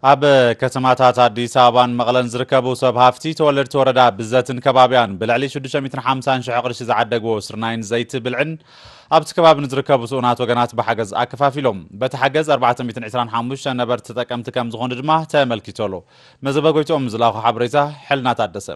ኣብ ከተማታት ኣዲስ ኣበባን መቐለን ዝርከቡ ሰብ ሃፍቲ ተወለድቲ ወረዳ ብዘትን ከባቢያን ብልዕሊ ሽዱሽተ ሚእትን ሓምሳን ሽሕ ቅርሺ ዝዓደግዎ ስርናይን ዘይቲ ብልዕን ኣብቲ ከባቢ ንዝርከቡ ስኡናት ወገናት ብሓገዝ ኣከፋፊሎም። በቲ ሓገዝ ኣርባዕተ ሚእትን ዕስራን ሓሙሽተን ነበርቲ ተጠቀምቲ ከም ዝኾኑ ድማ ተመልኪቱ ኣሎ። መዘበ ጎይትኦም ዝላኹ ሓበሬታ። ሕልና ታደሰ።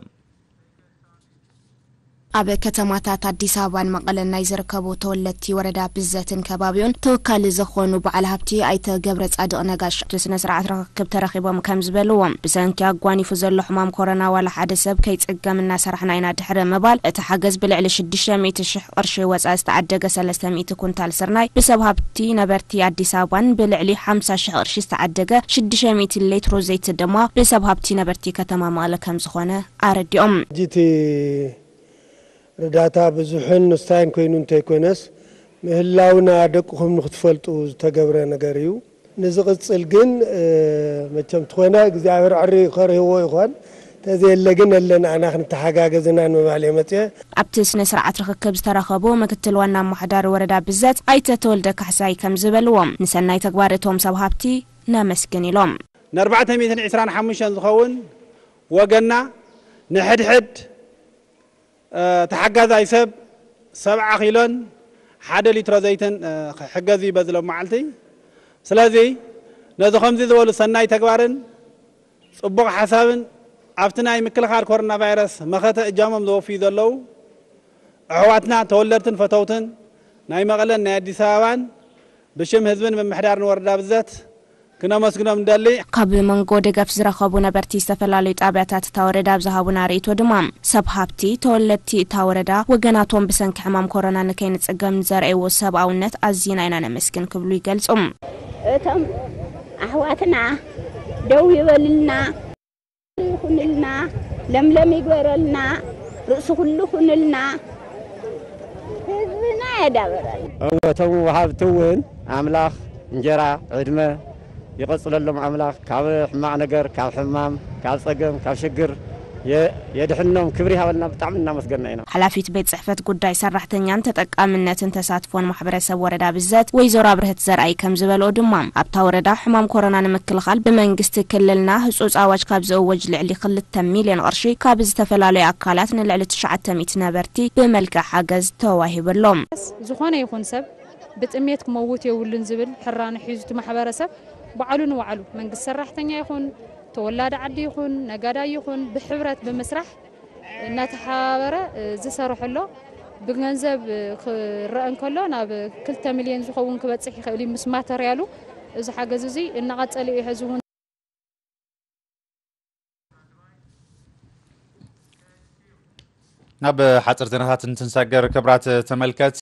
ኣብ ከተማታት ኣዲስ ኣበባን መቐለን ናይ ዝርከቡ ተወለድቲ ወረዳ ብዘትን ከባቢኡን ተወካሊ ዝኾኑ በዓል ሃብቲ ኣይተ ገብረ ጻድቕ ነጋሽ ኣብቲ ስነ ስርዓት ርኽክብ ተረኺቦም ከም ዝበልዎም፣ ብሰንኪ ኣጓኒፉ ዘሎ ሕማም ኮሮና ዋላ ሓደ ሰብ ከይጽገም እናሰራሕና ኢና ድሕሪ ምባል፣ እቲ ሓገዝ ብልዕሊ ሽዱሽተ ሚእቲ ሽሕ ቅርሺ ወፃኢ ዝተዓደገ ሰለስተ ሚእቲ ኩንታል ስርናይ ብሰብ ሃብቲ ነበርቲ ኣዲስ ኣበባን ብልዕሊ ሓምሳ ሽሕ ቅርሺ ዝተዓደገ ሽዱሽተ ሚእቲ ሌትሮ ዘይቲ ድማ ብሰብ ሃብቲ ነበርቲ ከተማ መቐለ ከም ዝኾነ ኣረዲኦም። ሕጂ እቲ ርዳታ ብዙሕን ንስታይን ኮይኑ እንተይኮነስ፣ ምህላውና ደቅኹም ንክትፈልጡ ዝተገብረ ነገር እዩ። ንዝቕጽል ግን መቸም ትኾነ እግዚኣብሔር ዕሪ ከርህዎ ይኾን፣ ተዘየለ ግን ኣለና ኣና ክንተሓጋገዝና ንምባል እየ መፅአ። ኣብቲ ስነ ስርዓት ርኽክብ ዝተረኸቡ ምክትል ዋና ኣማሓዳሪ ወረዳ ብዘት ኣይተ ተወልደ ካሕሳይ ከም ዝበልዎም፣ ንሰናይ ተግባር እቶም ሰብ ሃብቲ ነመስግን ኢሎም። ን425 ዝኸውን ወገንና ንሕድሕድ ተሓጋዛይ ሰብ ሰብዓ ኪሎን ሓደ ሊትሮ ዘይትን ክሕገዝ እዩ በዚ ሎም መዓልቲ። ስለዚ ነዚ ከምዚ ዝበሉ ሰናይ ተግባርን ፅቡቕ ሓሳብን ኣብቲ ናይ ምክልኻል ኮሮና ቫይረስ መኸተ እጃሞም ዘወፍዩ ዘለዉ ኣሕዋትና ተወለድትን ፈተውትን ናይ መቐለን ናይ ኣዲስ ኣበባን ብሽም ህዝብን ምምሕዳርን ወረዳ ብዘት ክነመስግኖም ንደሊ። ካብ መንጎ ደገፍ ዝረኸቡ ነበርቲ ዝተፈላለዩ ጣብያታት እታ ወረዳ ኣብ ዝሃቡና ርእይቶ ድማ፣ ሰብ ሃብቲ ተወለድቲ እታ ወረዳ ወገናቶም ብሰንኪ ሕማም ኮሮና ንከይንፅገም ንዘርኣይዎ ሰብኣውነት ኣዚና ኢና ነመስግን ክብሉ ይገልፁ። እቶም ኣሕዋትና ደው ይበልልና፣ ይኹንልና፣ ለምለም ይግበረልና፣ ርእሲ ኩሉ ኩንልና፣ ህዝብና የዳበረልና። እወ እቶም ወሃብቲ እውን ኣምላኽ እንጀራ ዕድመ ይቐፅለሎም ኣምላኽ ካብ ሕማቕ ነገር ካብ ሕማም ካብ ፀገም ካብ ሽግር የድሕኖም ክብሪ ይሃበልና ብጣዕሚ እናመስገና ኢና። ሓላፊት ቤት ፅሕፈት ጉዳይ ሰራሕተኛን ተጠቃምነትን ተሳትፎን ማሕበረሰብ ወረዳ ብዘት ወይዘሮ ኣብርህት ዘርኣይ ከም ዝበልኦ ድማ ኣብታ ወረዳ ሕማም ኮሮና ንምክልኻል ብመንግስቲ ክልልና ህፁፅ ኣዋጅ ካብ ዝእወጅ ልዕሊ ክልተ ሚልዮን ቅርሺ ካብ ዝተፈላለዩ ኣካላት ንልዕሊ ትሽዓተ ሚእቲ ነበርቲ ብመልክዕ ሓገዝ ተዋሂቡ ኣሎ። ዝኾነ ይኹን ሰብ ብጥሜት ክመውት የብሉን ዝብል ሕራነ ሒዙ እቲ ማሕበረሰብ ባዕሉ ንባዕሉ መንግስቲ ሰራሕተኛ ይኹን ተወላዲ ዓዲ ይኹን ነጋዳይ ይኹን ብሕብረት ብምስራሕ እናተሓባበረ ዝሰርሐ ኣሎ። ብገንዘብ ክረአ እንከሎ ናብ ክልተ ሚልዮን ዝኸውን ክበፅሕ ይኽእል እዩ ምስ ማተርያሉ። እዚ ሓገዝ እዚ እናቐፀለ እዩ ሕዚ እውን። ናብ ሓፂር ዜናታት እንትንሰግር ክብራት ተመልከት